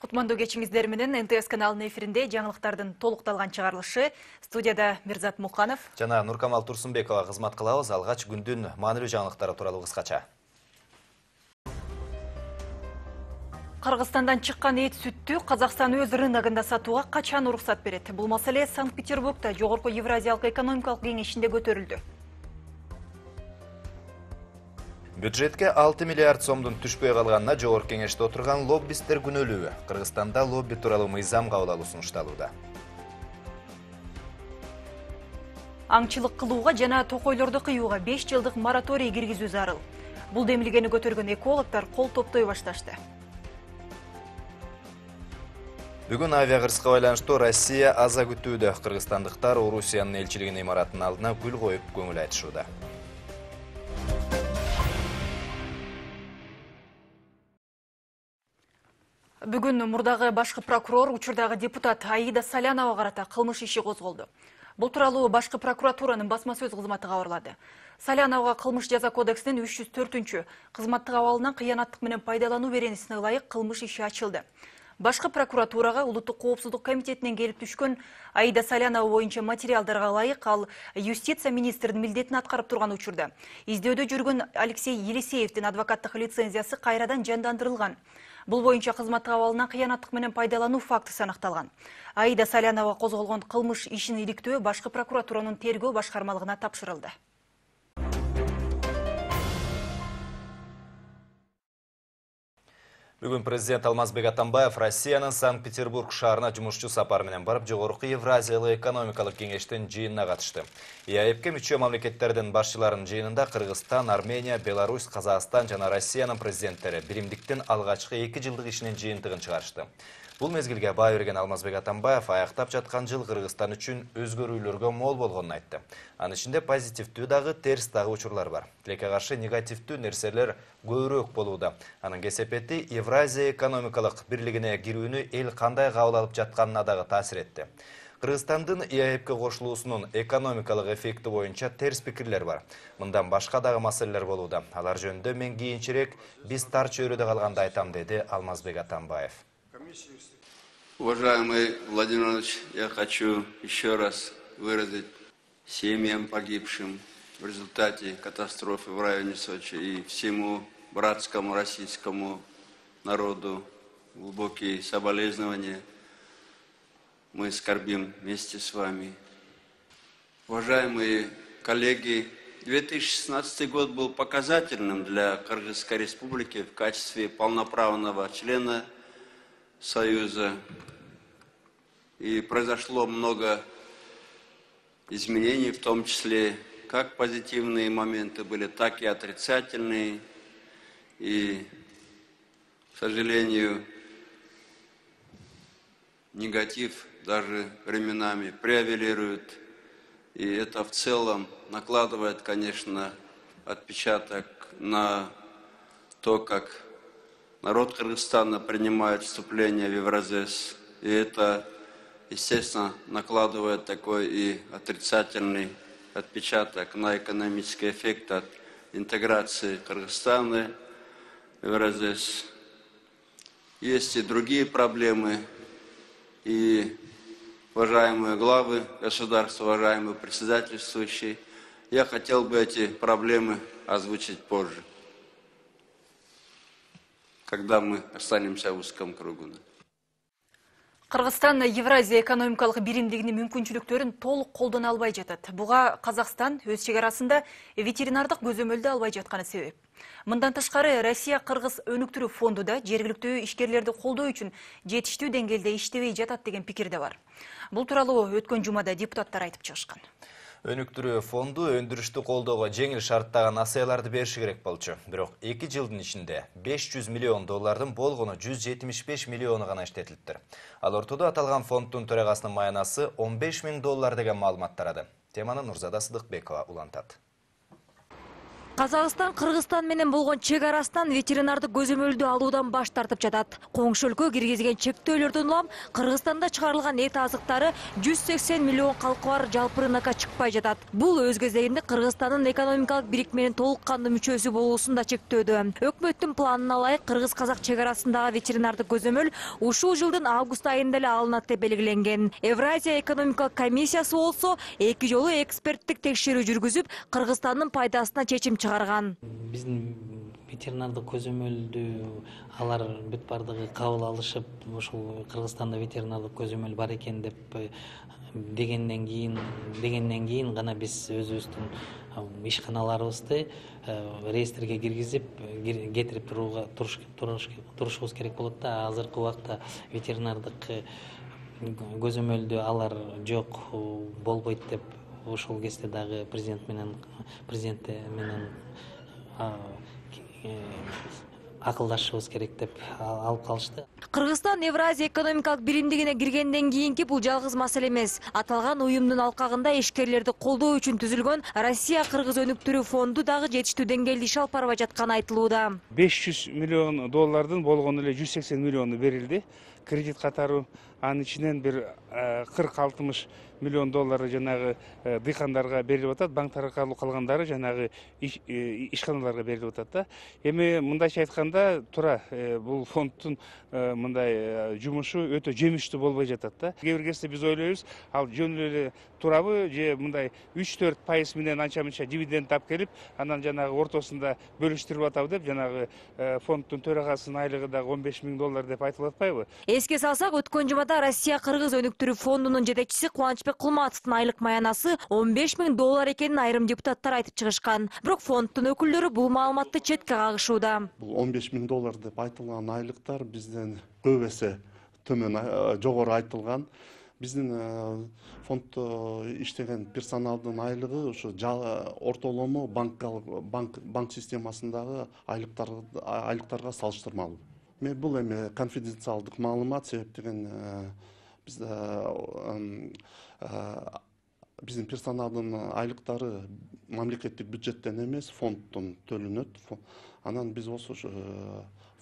Кутмандуу кечиңиздер менен НТС каналынын эфиринде жаңылыктардын толукталган чыгарылышы. Студияда Мирзат Муканов жана Нуркамал Турсунбекова кызмат кылабыз. Алгач күндүн маанилүү жаңылыктары тууралуу кыскача. Кыргызстандан чыккан эт сүттү Казакстан өз рыногунда сатууга качан уруксат берет? Бул маселе Санкт-Петербургда Жогорку Евразиялык экономикалык кеңешинде көтөрүлдү. Бюджетке 6 миллиард сомдун түшпөй калганына Жогорку кеңеште отурган лоббисттер күнөөлүү. Кыргызстанда лобби тууралуу мыйзам кабыл алуу сунушталууда. Аңчылык кылууга жана токойлорду кыюуга 5 жылдык мораторий киргизүү зарыл. Бул демилгени көтөргөн экологдор кол топтой башташты. Бүгүн авиакырсыкка байланыштуу Россия аза күтүүдө. Кыргызстандыктар Орусиянын элчилигинин имаратынын алдына гүл коюп көңүл айтышууда. Бүгүн мурдагы башкы прокурор учурдагы депутат Аида Салянова карата кылмыш иши козголду. Бул тууралуу башкы прокуратуранын басма сөз кызматы кабарлады. Саляновага кылмыш жаза кодексинин 304 кызматтык абалынан кыянаттык менен пайдалануу беренесине ылайык кылмыш иши ачылды. Башкы прокуратурага Улуттук коопсуздук комитетинен келип түшкөн Аида Салянова боюнча материалдарга ылайык ал юстиция министринин милдетин аткарып турган учурда издөөдө жүргөн Алексей Елисеевдин адвокаттык лицензиясы кайрадан жандандырылган. Бул боюнча кызматтык абалынан кыянаттык менен пайдалануу фактысы аныкталган. Аида Салянова козголгон кылмыш ишин иликтөө башкы прокуратуранын тергөө башкармалыгына тапшырылды. Бүгүн президент Алмазбек Атамбаев Россиянын Санкт-Петербург шаарына жумушчу сапар менен барып, Жогорку Евразиялык экономикалык кеңештин жыйынына катышты. ЕАЭПке мүчө мамлекеттердин башчыларынын жыйынында Кыргызстан, Армения, Беларусь, Казакстан жана Россиянын президенттери биримдиктин алгачкы 2 жылдык ишинин жыйынтыгын чыгарышты. Бул мезгилге баа берген Алмазбек Атамбаев аяктап жаткан жыл Кыргызстан үчүн өзгөрүүлөргө мол болгонун айтты. Анын ичинде позитивдүү дагы, терс дагы учурлар бар. Тилекке каршы негативдүү нерселер көбүрөөк болууда. Анын кесепети Евразия экономикалык бирлигине кирүүнү эл кандай кабыл алып жатканына дагы таасир этти. Кыргызстандын ЕАЭПке кошулуусунун экономикалык эффекти боюнча терс пикирлер бар. Мындан башка дагы маселелер болууда. Алар жөнүндө мен кийинчерээк биз тар чөйрөдө калганда айтам, деди Алмазбек Атамбаев. Уважаемый Владимир Иванович, я хочу еще раз выразить семьям погибшим в результате катастрофы в районе Сочи и всему братскому российскому народу глубокие соболезнования. Мы скорбим вместе с вами. Уважаемые коллеги, 2016 год был показательным для Кыргызской республики в качестве полноправного члена Союза. И произошло много изменений, в том числе как позитивные моменты были, так и отрицательные. И, к сожалению, негатив даже временами превалирует. И это в целом накладывает, конечно, отпечаток на то, как народ Кыргызстана принимает вступление в Евразес. И это, естественно, накладывает такой и отрицательный отпечаток на экономический эффект от интеграции Кыргызстана в Евразес. Есть и другие проблемы. И уважаемые главы государства, уважаемые председательствующие, я хотел бы эти проблемы озвучить позже, когда мы останемся в узком кругу. Кыргызстан Евразия экономикалык биримдигинин мүмкүнчүлүктөрүн толук колдоно албай жатат. Буга Казакстан өз чегарасында ветеринардык көзөмөлдү албай жатканы себеп. Мындан тышкары Россия Кыргыз өнүктүрүү фонду да жергиликтүү ишкерлерди колдоо үчүн жетиштүү деңгээлде иштебей жатат деген пикир да бар. Бул тууралуу өткөн жумада депутаттар айтып чыгышкан. Өнүктүрүү фонду өндүрүштү колдоого жеңил шарттагы насыяларды бериши керек болчу. Бирок 2 жылдын ичинде 500 миллион доллардын болгону 175 миллиону гана иштетилиптир. Ал ортодо аталган фонддун төрагасынын маянасы 15 000 доллар деген маалымат тарады. Теманы Нурзада Сыдыкбекова улантат. Казакстан Кыргызстан менен болгон чек арасынан ветеринардык көзөмөлдү алуудан баш тартып жатат. Коңшу өлкө киргизген чектөөлөрдөн улам Кыргызстанда чыгарылган эт азыктары 180 миллион калкы бар жалпы рынокко чыкпай жатат. Бул өз кезегинде Кыргызстандын экономикалык бирикменин толук кандуу мүчөсү болуусун да чектөөдө. Өкмөттүн планына ылайык кыргыз-казак чек арасындагы ветеринардык көзөмөл ушул жылдын август айында эле алынат деп белгиленген. Евразия экономикалык комиссиясы болсо 2 жолу эксперттик текшерүү жүргүзүп, Кыргызстандын пайдасына чечим чыгарган. Биздин ветеринардык көзөмөлдү алар бүт бардыгы кабыл алышып, ушул Кыргызстанда ветеринардык көзөмөл бар экен деп дегенден кийин гана биз өзүбүздүн ишканаларыбызды реестрге киргизип кетирип турушубуз керек болот да. Азыркы убакта ветеринардык көзөмөлдү алар жок, болбойт деп ошол кезде дагы президент менен акылдашышыбыз керек деп алып калышты. Кыргызстан Евразия экономикалык биримдигине киргенден кийинки бул жалгыз маселе эмес. Аталган уюмдун алкагында ишкерлерди колдоо үчүн түзүлгөн Россия-Кыргыз өнүктүрүү фонду дагы жетиштүү деңгээлде иш алып барбай жатканы айтылууда. 500 миллион доллардын болгону эле 180 миллиону берилди. Кредит катары анын ичинен бир 40-60 миллион доллары жанагы дыйкандарга берилип атат, банктар аркылуу калгандары жанагы ишканаларга берилип атат да. Эми мындайча айтканда туура бул фонддун мындай жумушу өтө жемиштүү болбой жатат да. Кээ бир кезде биз ойлойбуз, ал жөн эле турабы же мындай 3-4% менен анча-мынча дивиденд алып келип, анан жанагы ортосунда бөлүштүрүп атабы деп жанагы фонддун төрагасынын айлыгы дагы 15 000 доллар деп айтылып атпайбы? Эске салсак, өткөн жумада Россия-Кыргыз өнүктүрүү фондунун жетекчиси Кубанычбек Кулматовдун айлык маянасы 15 000 доллар экенин айрым депутаттар айтып чыгышкан. Бирок фонддун өкүлдөрү бул маалыматты четке кагышууда. Бул 15 000 доллар деп айтылган айлыктар бизден көп эсе төмөн, жогору айтылган. Биздин фонддо иштеген персоналдын айлыгы ушу ортолому банк системасындагы айлыктарга салыштырмалуу. Бул эми конфиденциалдык маалымат себептен биздин персоналдын айлыктары мамлекеттик бюджеттен эмес, фонддон төлөнөт. Анан биз ошо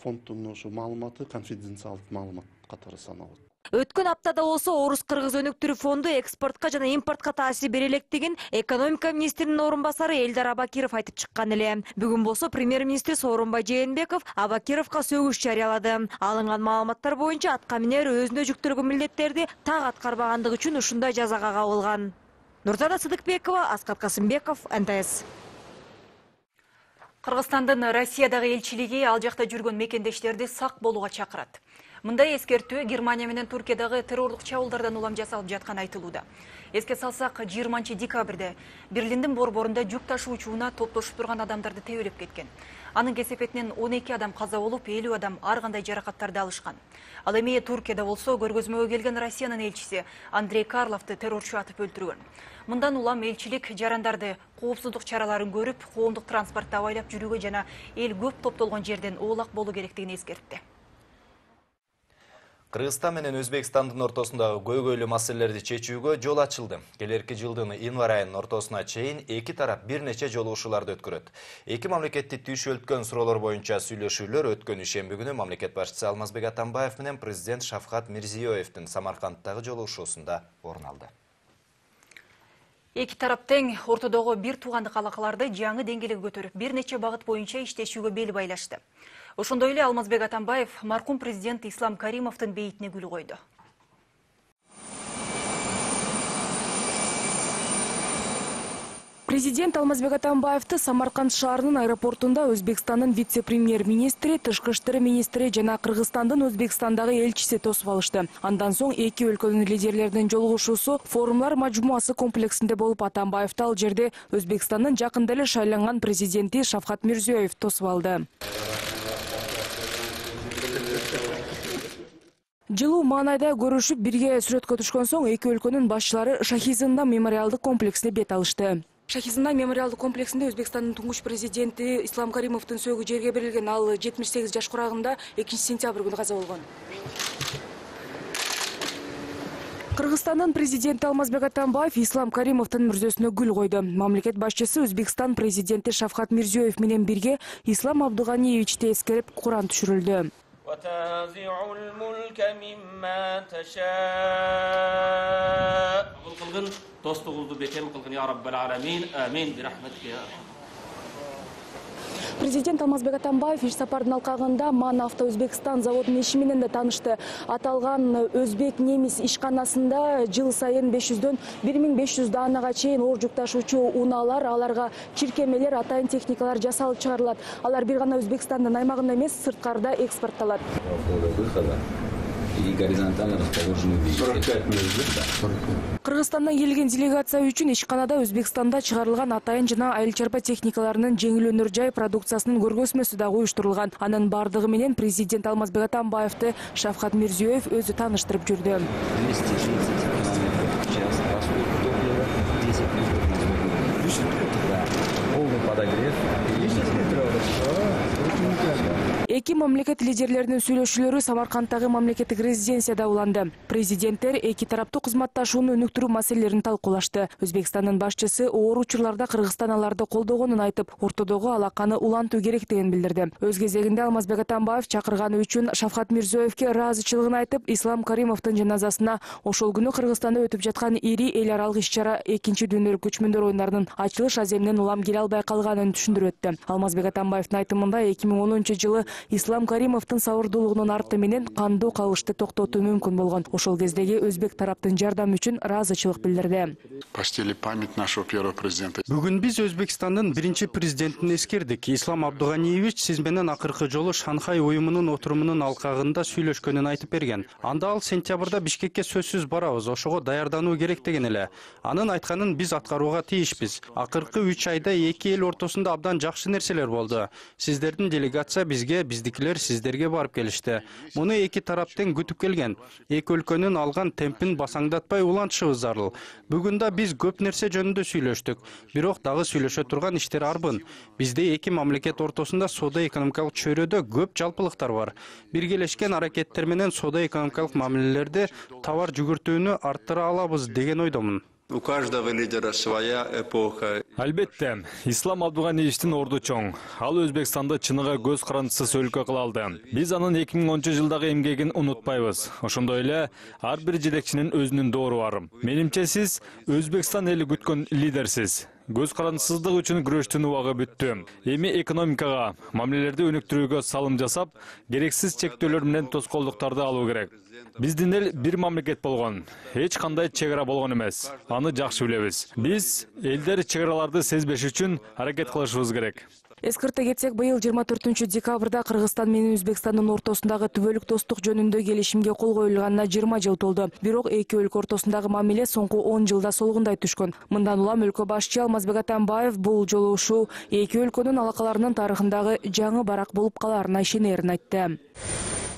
фонддун ошо маалыматы конфиденциалдык маалымат катары саналат. Өткөн аптада болсо Орус-Кыргыз өнүктүрүү фонду экспортко жана импортко таасир бере электигин экономика министринин орун басары Элдар Абакиров айтып чыккан эле. Бүгүн болсо премьер-министр Сооронбай Жээнбеков Абакировго сөгүш жарыялады. Алынган маалыматтар боюнча аткаминер өзүнө жүктөлгөн милдеттерди так аткарбагандыгы үчүн ушундай жазага кабылган. Нурзада Сыдыкбекова, Аскар Касымбеков, НТС. Кыргызстандын Россиядагы элчилиги ал жакта жүргөн мекендештерди сак болууга чакырат. Мындай эскертүү Германия менен Туркиядагы террорлук чабуулдардан улам жасалып жатканы айтылууда. Эске салсак, 20 декабрда Берлиндин борборунда жүк ташуучуна топтошуп турган адамдарды тебелеп кеткен. Анын кесепетинен 12 адам каза болуп, 50 адам ар кандай жаракаттарды алышкан. Ал эми Туркияда болсо көргөзмөгө келген Россиянын элчиси Андрей Карловду террорчу атып өлтүргөн. Мындан улам элчилик жарандарды коопсуздук чараларын көрүп, коомдук транспортто абайлап жүрүүгө жана эл көп топтолгон жерден оолак болуу керектигин эскертти. Кыргызстан менен Өзбекстандын ортосундагы көйгөйлүү маселелерди чечүүгө жол ачылды. Келерки жылдын январь айынын ортосуна чейин эки тарап бир нече жолугушууларды өткөрөт. Эки мамлекетти түйшөлткөн суроолор боюнча сүйлөшүүлөр өткөн ишемби күнү мамлекет башчысы Алмазбек Атамбаев менен президент Шавкат Мирзиёевдин Самаркандтагы жолугушуусунда орун алды. Эки тарап тең ортодогу бир туугандык алакаларды жаңы деңгээлге көтөрүп, бир нече багыт боюнча иштешүүгө бел байлашты. Ошондой эле Алмазбек Атамбаев маркум президент Ислам Каримовдун бейитине гүл койду. Президент Алмазбек Атамбаевди Самарканд шаарынын аэропортунда Өзбекстандын вице-премьер-министри, тышкы иштер министри жана Кыргызстандын Өзбекстандагы элчиси тосуп алышты. Андан соң эки өлкөнүн лидерлеринин жолугушуусу форумлар мажмуасы комплексинде болуп, Атамбаевди ал жерде Өзбекстандын жакында эле шайланган президенти Шавкат Мирзиёев тосуп алды. Жылуу маанайда көрүшүп, бирге сүрөткө түшкөн соң эки өлкөнүн башчылары Шахи-Зындан мемориалдык комплексине бет алышты. Шахи-Зындан мемориалдык комплексинде Өзбекстандын туңгуч президенти Ислам Каримовдун сөөгү жерге берилген. Ал 78 жаш курагында 2 сентябрь күнү каза болгон. Кыргызстандын президенти Алмазбек Атамбаев Ислам Каримовдун мүрзөсүнө гүл койду. Мамлекет башчысы Өзбекстан президенти Шавкат Мирзиёев менен бирге Ислам Абдуганиевичти эскерип Куран түшүрүлдү. Президент Алмазбек Атамбаев иш сапардын алкагында МАН Авто Өзбекстан заводунун иши менен да таанышты. Аталган өзбек немис ишканасында жыл сайын 500дөн 1500 даанага чейин оор жүк ташуучу унаалар, аларга чиркемелер, атайын техникалар жасалып чыгарылат. Алар бир гана Өзбекстандын аймагында эмес, сырткарда экспортталат. И горизонтально расположены 45 метров. Кыргызстандан келген делегация үчүн ишканада Өзбекстанда чыгарылган атайын жана айыл чарба техникаларынын жеңил өнөр жай продукциясынын көргөзмөсү да уюштурулган. Анын бардыгы менен президент Алмазбек Атамбаевди Шавкат Мирзиёев өзү тааныштырып жүрдү. 230 км в час, расход топлива 10 метров. Полный подогрев. 10 метров. Эки мамлекет лидерлеринин сүйлөшүүлөрү Самаркандтагы мамлекеттик резиденцияда уланды. Президенттер эки тараптуу кызматташууну өнүктүрүү маселелерин талкуулашты. Өзбекстандын башчысы оор учурларда Кыргызстан аларды колдогонун айтып, ортодогу алаканы улантуу керектигин билдирди. Өз кезегинде Алмазбек Атамбаев чакырганы үчүн Шавкат Мирзиёевке ыраазычылыгын айтып, Ислам Каримовдун жаназасына ошол күнү Кыргызстанда өтүп жаткан ири эл аралык иш-чара экинчи дүйнөлүк көчмөндөр оюндарынын ачылыш аземинен улам келе албай калганын түшүндүрүп өттү. Алмазбек Атамбаевдин айтымында 2010-жылы Ислам Каримовдун сабырдуулугунун арты менен кандуу калышты токтотуу мүмкүн болгон. Ошол кездеги өзбек тараптын жардамы үчүн ыраазычылык билдирди. Почтили память нашего первого президента. Бүгүн биз Өзбекстандын биринчи президентин эскердик. Ислам Абдуганиевич сиз менен акыркы жолу Шанхай уюмунун отурумунун алкагында сүйлөшкөнүн айтып берген. Анда ал сентябрда Бишкекке сөзсүз барабыз, ошого даярдануу керек деген эле. Анын айтканын биз аткарууга тийишпиз. Акыркы 3 айда эки эл ортосунда абдан жакшы нерселер болду. Сиздердин делегация бизге, биздикилер сиздерге барып келишти. Муну эки тараптан күтүп келген. Эки өлкөнүн алган темпин басаңдатпай улантышыбыз зарыл. Бүгүн да биз көп нерсе жөнүндө сүйлөштүк. Бирок дагы сүйлөшө турган иштер арбын. Бизде эки мамлекет ортосунда соода-экономикалык чөйрөдө көп жалпылыктар бар. Биргелешкен аракеттер менен соода-экономикалык мамилелерди товар жүгүртүүнү арттыра алабыз деген ойдомун. У каждого лидера своя эпоха. Албетте, Ислам Абдуганиевичтин орду чоң. Ал Өзбекстанды чыныгы көз карандысыз өлкө кыла алды. Биз анын 2010-жылдагы эмгегин унутпайбыз. Ошондой эле ар бир жетекчинин өзүнүн доору бар. Менимче сиз Өзбекстан эли күткөн лидерсиз. Көз карандысыздык үчүн күрөштүн убагы бүттү. Эми экономикага, мамилелерди өнүктүрүүгө салым жасап, керексиз чектөөлөр менен тоскоолдуктарды алуу керек. Биздин эл бир мамлекет болгон, эч кандай чек ара болгон эмес. Аны жакшы билебиз. Биз элдер чек араларды сезбеш үчүн аракет кылышыбыз керек. Эскерте кетсек, быйыл 24-декабрда Кыргызстан менен Өзбекстандын ортосундагы түбөлүк достук жөнүндө келишимге кол коюлганына 20 жыл толду. Бирок эки өлкө ортосундагы мамиле соңку 10 жылда солгундай түшкөн. Мындан улам өлкө башчы Алмазбек Атамбаев бул жолугушуу эки өлкөнүн алакаларынын тарыхындагы жаңы барак болуп калаарына ишенерин айтты.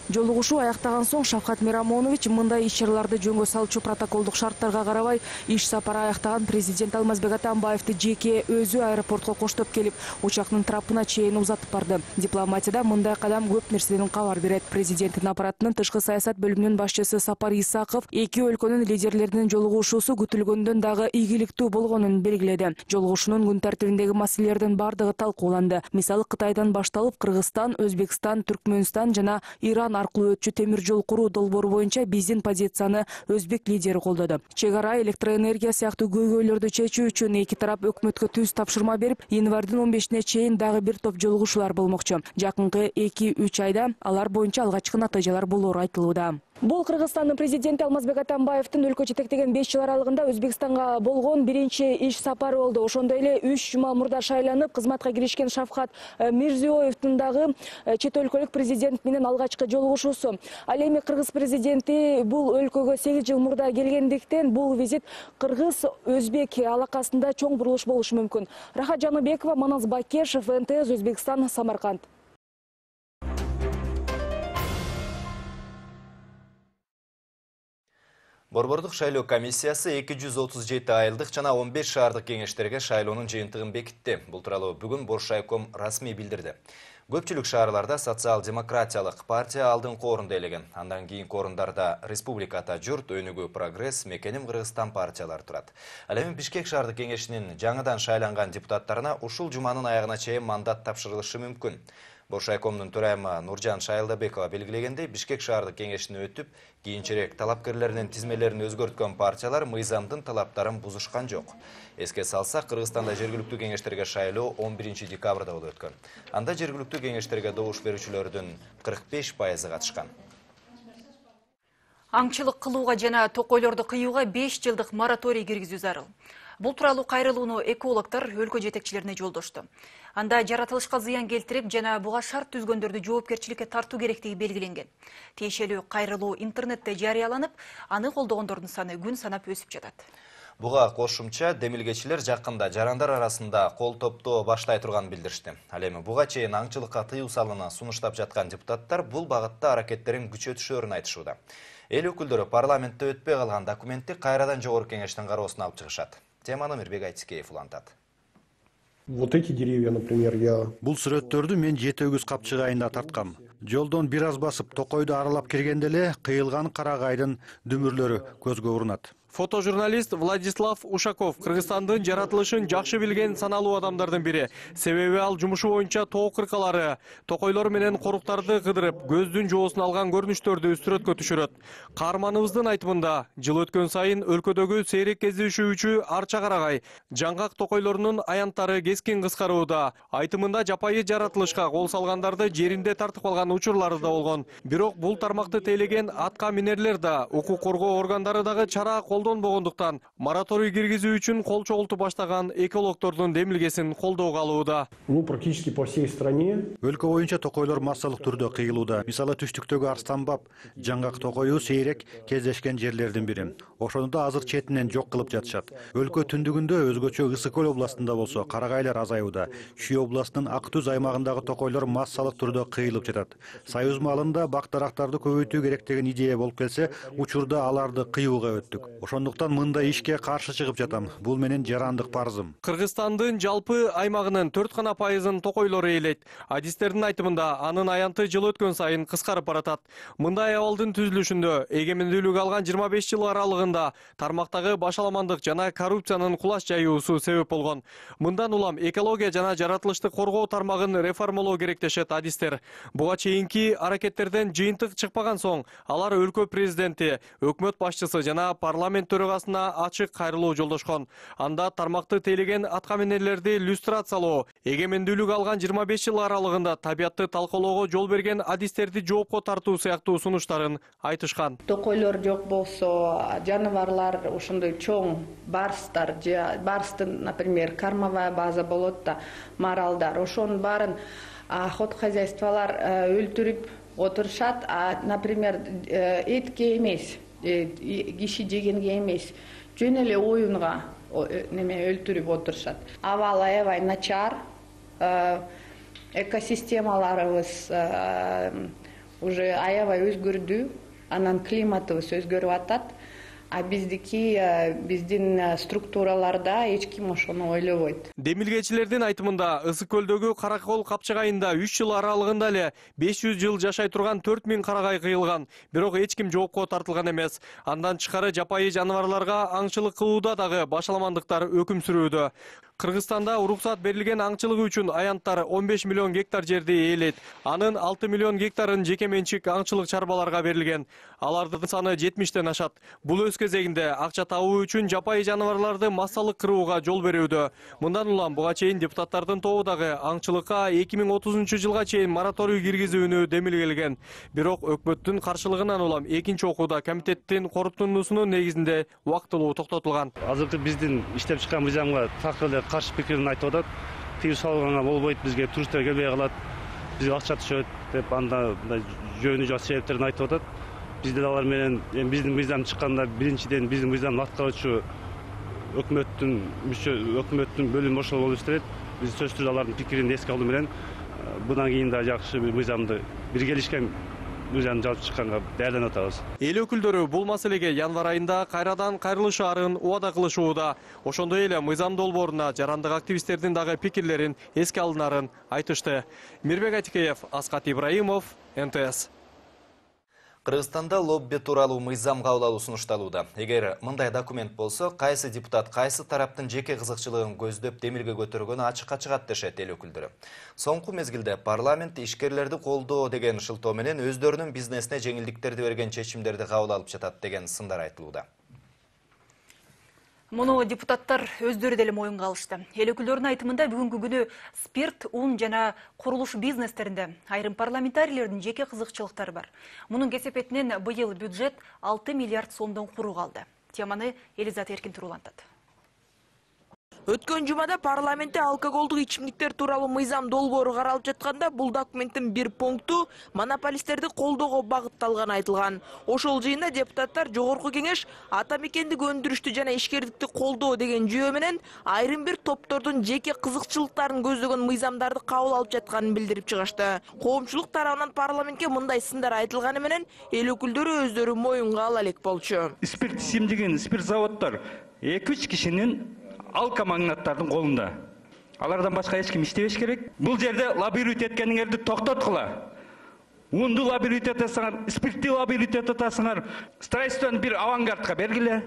Жолугушуу аяктаган соң Шавкат Мирамонович мындай иш-чараларды жөнгө салчу протоколдук шарттарга карабай иш сапары аяктаган президент Алмазбек Атамбаевди жеке өзү аэропортко коштоп келип, учактын трапына чейин узатып барды. Дипломатияда мындай кадам көп нерседен кабар берет. Президенттин аппаратынын тышкы саясат бөлүмүнүн башчысы Сапар Исаков эки өлкөнүн лидерлеринин жолугушуусу күтүлгөндөн дагы ийгиликтүү болгонун белгиледи. Жолугушуунун күн тартибиндеги маселелердин бардыгы талкууланды. Мисалы Кытайдан башталып Кыргызстан, Өзбекстан, Түркмөнстан жана Иран аркылуу өтчү темир жол куруу долбоору боюнча биздин позицияны өзбек лидери колдоду. Чек ара, электроэнергия сыяктуу көйгөйлөрдү чечүү үчүн эки тарап өкмөткө түз тапшырма берип, январдын 15-ине чейин дагы бир топ жолугушуулар болмокчу. Жакынкы 2-3 айда алар боюнча алгачкы натыйжалар болоору айтылууда. Бул Кыргызстандын президенти Алмазбек Атамбаевдин өлкө жетектеген 5 жыл аралыгында Өзбекстанга болгон биринчи иш сапары болду. Ошондой эле 3 жума мурда шайланып, кызматка киришкен Шавкат Мирзиёевдин дагы чет өлкөлүк президент менен алгачкы жолугушуусу. Ал эми кыргыз президенти бул өлкөгө 8 жыл мурда келгендиктен бул визит кыргыз-өзбек алакасында чоң бурулуш болушу мүмкүн. Рахат Жаныбекова, Манас Бакешев, НТС Өзбекстан, Самарканд. Борбордук шайлоо комиссиясы 237 айылдык жана 15 шаардык кеңештерге шайлоонун жыйынтыгын бекитти. Бул тууралуу бүгүн Боршайком расмий билдирди. Көпчүлүк шаарларда социал-демократиялык партия алдыңкы орунду ээлеген. Андан кийинки орундарда Республика Ата Журт, Өнүгүү Прогресс, Мекеним Кыргызстан партиялары турат. Ал эми Бишкек шаардык кеңешинин жаңыдан шайланган депутаттарына ушул жуманын аягына чейин мандат тапшырылышы мүмкүн. Боршайкомдун төрайымы Нуржан Шайлдабекова белгилегендей, Бишкек шаардык кеңешине өтүп, кийинчерээк талапкерлеринин тизмелерин өзгөрткөн партиялар мыйзамдын талаптарын бузушкан жок. Эске салсак, Кыргызстанда жергиликтүү кеңештерге шайлоо 11 декабрда болуп өткөн. Анда жергиликтүү кеңештерге добуш берүүчүлөрдүн 45% катышкан. Аңчылык кылууга жана токойлорду кыюуга 5 жылдык мораторий киргизүү зарыл. Бул тууралуу кайрылууну экологдор өлкө жетекчилерине жолдошту. Анда жаратылышка зыян келтирип жана буга шарт түзгөндөрдү жоопкерчиликке тартуу керектиги белгиленген. Тиешелүү кайрылуу интернетте жарыяланып, аны колдогондордун саны күн санап өсүп жатат. Буга кошумча демилгечилер жакында жарандар арасында кол топтоо баштай турганын билдиришти. Ал эми буга чейин аңчылыкка тыюу салууну сунуштап жаткан депутаттар бул багытта аракеттерин күчөтүшөрүн айтышууда. Эл өкүлдөрү парламентте өтпөй калган документти кайрадан жогорку кеңештин кароосуна алып чыгышат. Теманы Мирбек Айтскеев улантат. Вот эти деревья, например, Бул сүрөттөрдү мен 7 өгүз капчыгы айында тарткам. Жолдон бир аз басып, токойду аралап келгенде эле кыйылган карагайдын дүмүрлөрү көзгө урунат. Фотожурналист Владислав Ушаков Кыргызстандын жаратылышын жакшы билген саналуу адамдардын бири. Себеби ал жумушу боюнча тоо кыркалары, токойлор менен коруктарды кыдырып, көздүн жоосун алган көрүнүштөрдү сүрөткө түшүрөт. Каарманыбыздын айтымында, жыл өткөн сайын өлкөдөгү сейрек кездешүүчү арча карагай, жаңгак токойлорунун аянттары кескин кыскарууда. Айтымында жапайы жаратылышка кол салгандарды жеринде тартып алган учурлары да болгон. Бирок бул тармакты тейлеген атка минерлер да, укук коргоо органдары дагы чара колдонбогондуктан мораторий киргизүү үчүн кол чогултуп баштаган экологдордун демилгесин колдоого алууда. Практически по всей стране. Өлкө боюнча токойлор массалык түрдө кыйылууда. Мисалы түштүктөгү Арстанбаб, жаңгак токою сейрек кездешкен жерлердин бири. Ошону да азыр четинен жок кылып жатышат. Өлкө түндүгүндө өзгөчө Ысык көл областында болсо карагайлар азаюуда. Шүй областынын Ак Түз аймагындагы токойлор массалык түрдө кыйылып жатат. Союз маалында бак дарактарды көбөйтүү керек деген идея болуп келсе, учурда аларды кыюуга өттүк. Ошондуктан мындай ишке каршы чыгып жатам. Бул менин жарандык парызым. Кыргызстандын жалпы аймагынын 4% токойлору ээлейт. Адистердин айтымында анын аянты жыл өткөн сайын кыскарып баратат. Мындай абалдын түзүлүшүндө эгемендүүлүк алган 25 жыл аралыгында тармактагы башаламандык жана коррупциянын кулаш жаюусу себеп болгон. Мындан улам экология жана жаратылышты коргоо тармагын реформалоо керек дешет адистер. Буга чейинки аракеттерден жыйынтык чыкпаган соң, алар өлкө президенти, өкмөт башчысы жана парламент төрагасына ачык кайрылуу жолдошкон. Анда тармакты тейлеген аткаминерлерди люстрациялоо, эгемендүүлүк алган 25 жыл аралыгында табиатты талкалоого жол берген адистерди жоопко тартуу сыяктуу сунуштарын айтышкан. Токойлор жок болсо, жаныбарлар ошондой чоң барстар, барстын, например, кормовая база болот да, маралдар, ошонун баарын хозяйстволор өлтүрүп отурушат, например, этке эмес, киши жегенге эмес, жөн эле оюнга өлтүрүп отурушат. Абал аябай начар, экосистемаларыбыз уже аябай өзгөрдү, анан климатыбыз өзгөрүп атат. А биздин структураларда эч ким ошону ойлобойт. Демилгечилердин айтымында Ысык көлдөгү Каракол капчыгайында 3 жыл аралыгында эле 500 жыл жашай турган 4000 карагай кыйылган. Бирок эч ким жоопко тартылган эмес. Андан тышкары жапайы жаныбарларга аңчылык кылууда дагы башаламандыктар өкүм сүрүүдө. Кыргызстанда уруксат берилген аңчылыгы үчүн аянттар 15 миллион гектар жерди ээлейт. Анын 6 миллион гектарын жеке менчик аңчылык чарбаларга берилген. Алардын саны 70тен ашат. Бул өз кезегинде акча табуу үчүн жапайы жаныбарларды массалык кырууга жол берүүдө. Мындан улам буга чейин депутаттардын тобу дагы аңчылыкка 2030-жылга чейин мораторий киргизүүнү демилгелген. Бирок өкмөттүн каршылыгынан улам экинчи окууда комитеттин корутундусунун негизинде убактылуу токтотулган. Азыркы биздин иштеп чыккан мыйзамга так эле каршы пикирин айтып атат. Тыюу салганга болбойт, бизге туристтер келбей калат, бизге акча түшөт деп анда жөнү жок себептерин айтып атат. Бизде алар менен биздин мыйзам чыкканда биринчиден биздин мыйзамды аткаруучу өкмөттүн бөлүм ошол болуп иштейт. Биз сөзсүз алардын пикирин эске алуу менен мындан кийин да жакшы бир мыйзамды биргелишкен мыйзам жазып чыкканга даярданып атабыз. Эл өкүлдөрү бул маселеге январ айында кайрадан кайрылышаарын убада кылышууда. Ошондой эле мыйзам долбооруна жарандык активисттердин дагы пикирлерин эске алынарын айтышты. Мирбек Атикеев, Аскат Ибраимов, НТС. Кыргызстанда лобби тууралуу мыйзам кабыл алуу сунушталууда. Эгер мындай документ болсо, кайсы депутат кайсы тараптын жеке кызыкчылыгын көздөп демилге көтөргөнү ачыкка чыгат дешет эл өкүлдөрү. Соңку мезгилде парламент ишкерлерди колдоо деген шылтоо менен өздөрүнүн бизнесине жеңилдиктерди берген чечимдерди кабыл алып жатат деген сындар айтылууда. Муну депутаттар өздөрү деле моюнга алышты. Эл өкүлдөрүнүн айтымында бүгүнкү күнү спирт, ун жана курулуш бизнестеринде айрым парламентарийлердин жеке кызыкчылыктары бар. Мунун кесепетинен быйыл бюджет 6 миллиард сомдон куру калды. Теманы Элизат Эркин улантат. Өткөн жумада парламентте алкоголдук ичимдиктер тууралуу мыйзам долбоору каралып жатканда бул документтин бир пункту монополисттерди колдоого багытталганы айтылган. Ошол жыйында депутаттар Жогорку кеңеш ата мекендик өндүрүштү жана ишкердикти колдоо деген жүйө менен айрым бир топтордун жеке кызыкчылыктарын көздөгөн мыйзамдарды кабыл алып жатканын билдирип чыгышты. Коомчулук тарабынан парламентке мындай сындар айтылганы менен эл өкүлдөрү өздөрү моюнга ала элек болчу. Спирт ичимдигин, спирт заводдор 2-3 кишинин алка магнаттардын колунда. Алардан башка эч ким иштебеш керек. Бул жерде лоббировать эткениңерди токтоткула. Унду лоббировать этесиңер, спиртти лоббировать этесиңер, строительствону бир авангардка бергиле.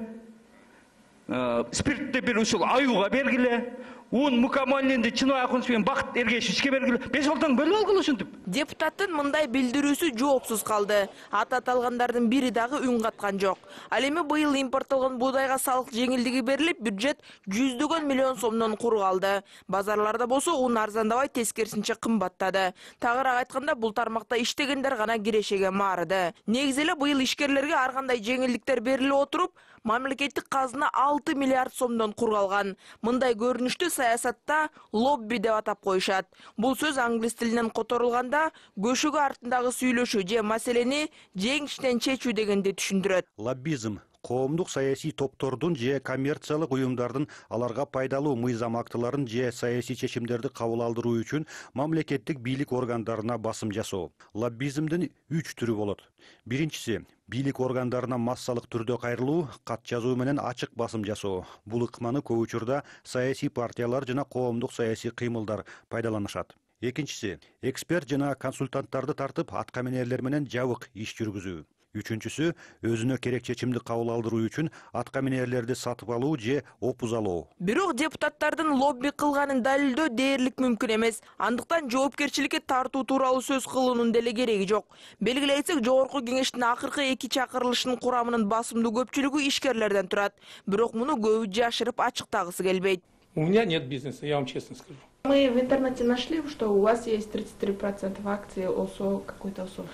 Спиртти бир ушул аюуга бергиле. Un mükemmelliğinde Çin ayakonsuyun bakıt ergeçişke bergili 5 жылдан бөлүп алгыла ушинтип. Депутаттын мындай билдирүүсү жоопсуз калды. Аты аталгандардын бири дагы үн каткан жок. Ал эми быйыл импорттолгон буудайга салык жеңилдиги берилип, бюджет 100 миллион сомдон куру калды. Базарларда болсо ун арзандабай, тескерисинче кымбаттады. Тагыраак айтканда бул тармакта иштегендер гана кирешеге маарыды. Негизи эле быйыл ишкерлерге ар кандай жеңилдиктер берилип отуруп, мамлекеттик казына 6 миллиард сомдон кургалган. Мындай көрүнүштү саясатта лобби деп атап коюшат. Бул сөз англис тилинен которулганда көшөгө артындагы сүйлөшүү же маселени жеңиштен чечүү дегенди түшүндүрөт. Лоббизм коомдук саясий топтордун же коммерциялык уюмдардын аларга пайдалуу мыйзам актыларын же саясий чечимдерди кабыл алдыруу үчүн мамлекеттик бийлик органдарына басым жасоо. Лоббизмдин 3 түрү болот. Биринчиси бийлик органдарына массалык түрдө кайрылуу, кат жазуу менен ачык басым жасоо. Бул ыкманы көп учурда саясий партиялар жана коомдук саясий кыймылдар пайдаланышат. Экинчиси эксперт жана консультанттарды тартып аткаминерлер менен жабык иш жүргүзүү. Үчүнчүсү өзүнө керек чечимди кабыл алдыруу үчүн аткаминерлерди сатып алуу же опуз алуу. Бирок депутаттардын лобби кылганын далилдөө дээрлик мүмкүн эмес. Андыктан жоопкерчиликке тартуу тууралуу сөз кылуунун деле кереги жок. Белгилей кетсек, Жогорку кеңештин акыркы 2 чакырылышынын курамынын басымдуу көпчүлүгү ишкерлерден турат. Бирок муну көбү жашырып ачыктагысы келбейт. У меня нет бизнеса, я вам честно скажу. Мы в интернете нашли, что у вас есть 33% акций ОСО, какой-то ОСО.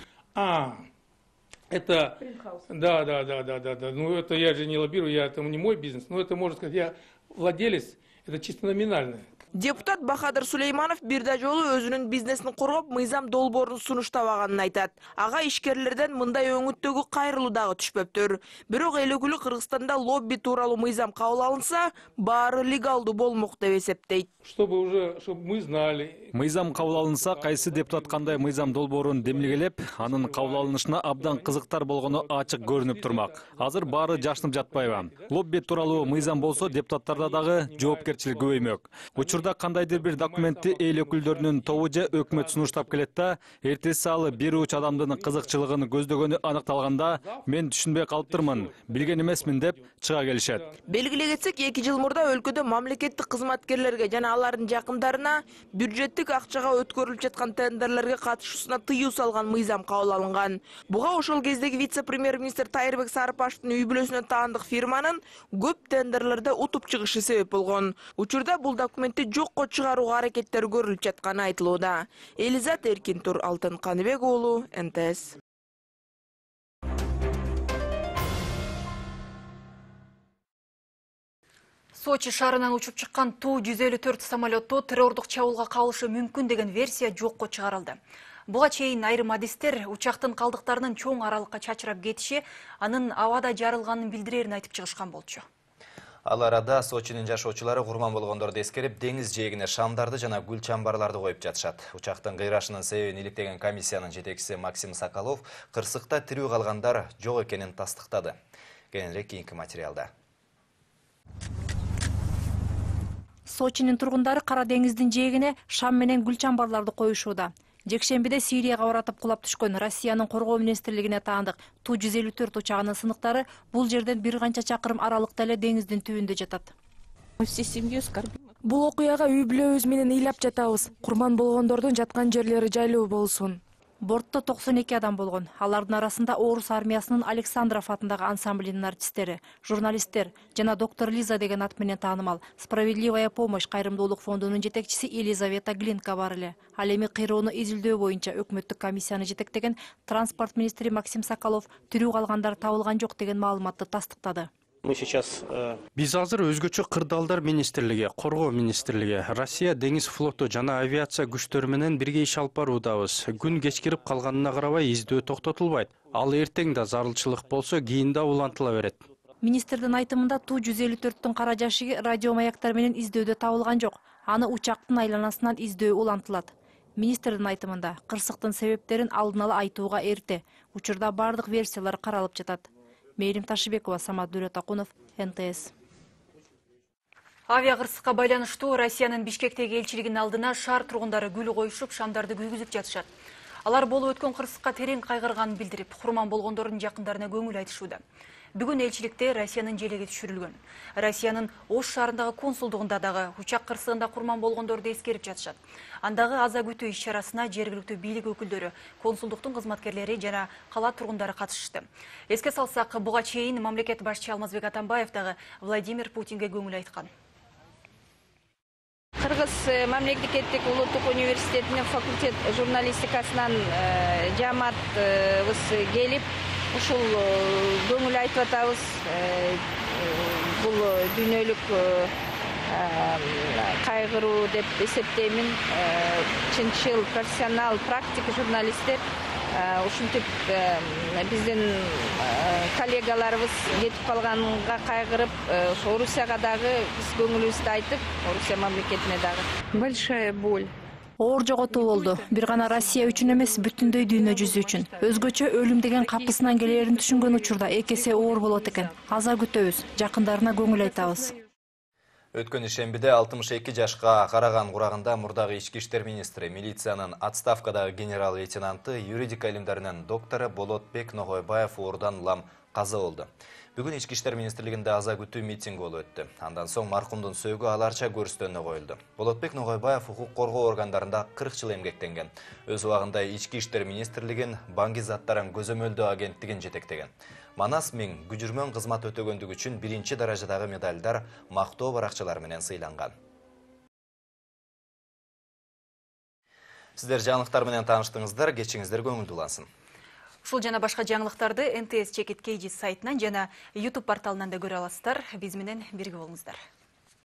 Это, да. Ну это я же не лоббирую, это не мой бизнес. Но это, можно сказать, я владелец, это чисто номинальное. Депутат Бахадыр Сулейманов бир да жолу өзүнүн бизнесин коргоп, мыйзам долбоорун сунуштабаганын айтат. Ага ишкерлерден мындай өңүттөгү кайрылуу дагы түшпөптүр. Бирок эл өкүлү Кыргызстанда лобби тууралуу мыйзам кабыл алынса, баары легалдуу болмок деп эсептейт. Чтобы мы знали. Мыйзам кабыл алынса, кайсы депутат кандай мыйзам долбоорун демилгелеп, анын кабыл алынышына абдан кызыктар болгону ачык көрүнүп турмак. Азыр баары жашынып жатпайбы? Лобби тууралуу мыйзам болсо, депутаттарда дагы жоопкерчилик көбөймөк. Учурда кандайдыр бир документти эл өкүлдөрүнүн тобу же өкмөт сунуштап келет да, эртеси ал бир уч адамдын кызыкчылыгын көздөгөнү аныкталганда, мен түшүнбөй калыптырмын, билген эмесмин деп чыга келишет. Белгилей кетсек, 2 жыл мурда өлкөдө мамлекеттик кызматкерлерге жана алардын жакындарына бюджеттик акчага өткөрүлүп жаткан тендерлерге катышуусуна тыюу салган мыйзам кабыл алынган. Буга ошол кездеги вице-премьер-министр Тайырбек Сарыпашевдин үй бүлөсүнө таандык фирманын көп тендерлерде утуп чыгышы себеп болгон. Учурда бул документти жокко чыгарууга аракеттер көрүлүп жатканы айтылууда. Элизат Эркин, Алтын Каныбек уулу, НТС. Сочи шаарынан учуп чыккан Ту-154 самолетту террордук чабуулга кабылышы мүмкүн деген версия жокко чыгарылды. Буга чейин айрым адистер учактын калдыктарынын чоң аралыкка чачырап кетиши анын абада жарылганын билдирерин айтып чыгышкан болчу. Ал арада Сочинин жашоочулары курман болгондорду эскерип, деңиз жээгине шамдарды жана гүл чамбарларды коюп жатышат. Учактын кыйрашынын себебин иликтеген комиссиянын жетекчиси Максим Соколов кырсыкта тирүү калгандар жок экенин тастыктады. Кененирээк кийинки материалда. Сочинин тургундары Кара деңиздин жээгине шам менен гүл чамбарларды коюшууда. Жекшембиде Сирияга оратып кулап түшкөн Россиянын коргоо министрлигине таандык Ту-154 учагынын сыныктары бул жерден бир канча чакырым аралыкта эле деңиздин түбүндө жатат. Бул окуяга үй бүлөбүз менен ыйлап жатабыз. Курман болгондордун жаткан жерлери жайлуу болсун. Бортто 92 адам болгон. Алардын арасында Орус армиясынын Александров атындагы ансамблинин артисттери, журналисттер жана доктор Лиза деген ат менен таанымал Справедливая помощь кайрымдуулук фондунун жетекчиси Елизавета Глинка бар эле. Ал эми кыйроону изилдөө боюнча өкмөттүк комиссияны жетектеген транспорт министри Максим Соколов тирүү калгандар табылган жок деген маалыматты тастыктады. Биз азыр өзгөчө кырдаалдар министрлиги, коргоо министрлиги, Россия деңиз флоту жана авиация күчтөрү менен бирге иш алып баруудабыз. Күн кечкирип калганына карабай издөө токтотулбайт. Ал эртең да зарылчылык болсо кийин да улантыла берет. Министрдин айтымында Ту-154-түн кара жашыгы радио маяктар менен издөөдө табылган жок. Аны учактын айланасынан издөө улантылат. Министрдин айтымында кырсыктын себептерин алдын ала айтууга эрте. Учурда бардык версиялар каралып жатат. Мээрим Ташыбекова, Самат Дүйрөтакунов, НТС. Авиа кырсыкка байланыштуу Россиянын Бишкектеги элчилигинин алдына шаар тургундары гүл коюшуп, шамдарды күйгүзүп жатышат. Алар болуп өткөн кырсыкка терең кайгырганын билдирип, курман болгондордун жакындарына көңүл айтышууда. Бүгүн элчиликте Россиянын желеги түшүрүлгөн. Россиянын Ош шаарындагы консулдугунда дагы учак кырсыгында курман болгондорду эскерип жатышат. Андагы аза күтүү иш-чарасына жергиликтүү бийлик өкүлдөрү, консулдуктун кызматкерлери жана кала тургундары катышышты. Эске салсак, буга чейин мамлекет башчысы Алмазбек Атамбаев дагы Владимир Путинге көңүл айткан. Кыргыз мамлекеттик улуттук университетинин факультет журналистикасынан жааматыбыз келип, ушул көңүл айтып атабыз. Бул дүйнөлүк кайгыруу деп эсептеймин. Чынчыл, профессионал, практик журналисттер ушинтип биздин коллегаларыбыз кетип калганга кайгырып, Орусияга дагы биз көңүлүбүздү айтып, Орусия мамлекетине дагы. Большая боль. Оор жоготуу болду. Бир гана Россия үчүн эмес, бүтүндөй дүйнө жүзү үчүн. Өзгөчө өлүм деген капысынан келерин түшүнгөн учурда эки эсе оор болот экен. Аза күтөбүз, жакындарына көңүл айтабыз. Өткөн ишембиде 62 жашка караган курагында мурдагы ички иштер министри, милициянын отставкадагы генерал-лейтенанты, юридика илимдеринин доктору Болотбек Ногойбаев оорудан улам каза болду. Бүгүн ички иштер министрлигинде аза күтүү митинг болуп өттү. Андан соң маркумдун сөөгү аларча көрүстөнүнө коюлду. Болотбек Ногойбаев укук коргоо органдарында 40 жыл эмгектенген. Өз убагында ички иштер министрлигин, банги заттарын көзөмөлдөө агенттигин жетектеген. Манас Миң күжүрмөн кызмат өтөгөндүгү үчүн 1-чи даражадагы медалдар, мактоо баракчалары менен сыйланган. Сиздер жаңылыктар менен тааныштыңыздар, кечиңиздер көңүлдүү улансын. Ушул жана башка жаңылыктарды НТС Чекит Кейджи сайтынан жана YouTube порталынан да көрө аласыздар. Биз менен бирге болуңуздар.